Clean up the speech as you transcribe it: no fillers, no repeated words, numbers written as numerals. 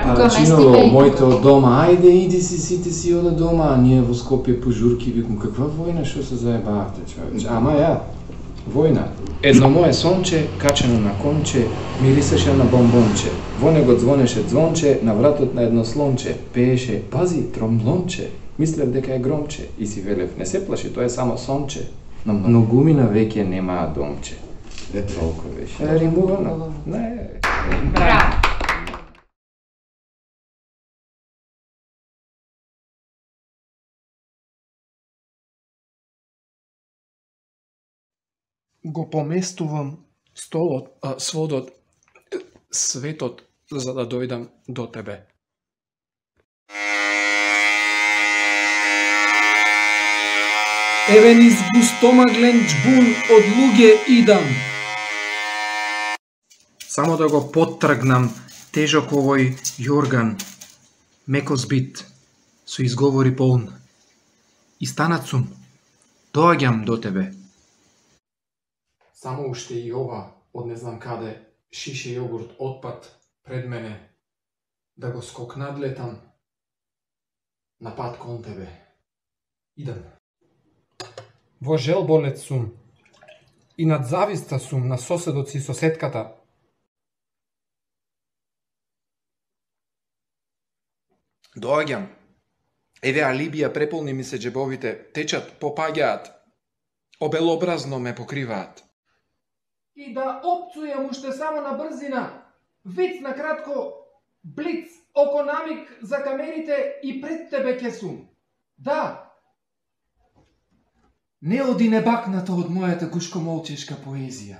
Арачиново, моето дома, ајде иди си, сите си ода дома, а ние во Скопје по журки, викам, каква војна, шо се заебавте, човече? Ама ја, војна. Едно мое сонче, качено на конче, мирисеше на бомбонче. Во него звонеше звонче, на вратот на едно слонче. Пееше, пази, тромблонче. Мислев дека е громче. И си велев, не се плаши, тоа е само сонче. Но многумина веќе немаа домче. Толку беше. Римувано? Не. Браво. Го поместувам столот, сводот, светот, за да дојдам до тебе. Еве низ густомаглен џбун од луѓе идам. Само да го поттргнам тежок овој јорган, меко збит, со изговори полн. И станат сум, доаѓам до тебе. Само уште и ова, од не знам каде, шише јогурт отпад пред мене, да го скокнадлетам на пат кон тебе. Идам. Во желболет сум, и над зависта сум на соседот си соседката. Доаѓам. Еве алибија преполни ми се џебовите, течат, попаѓаат, обелобразно ме покриваат. И да опцујам уште само на брзина, виц на кратко, блиц, окономик за камерите и пред тебе ке сум. Да. Не оди небакната од мојата гушкомолчешка поезија.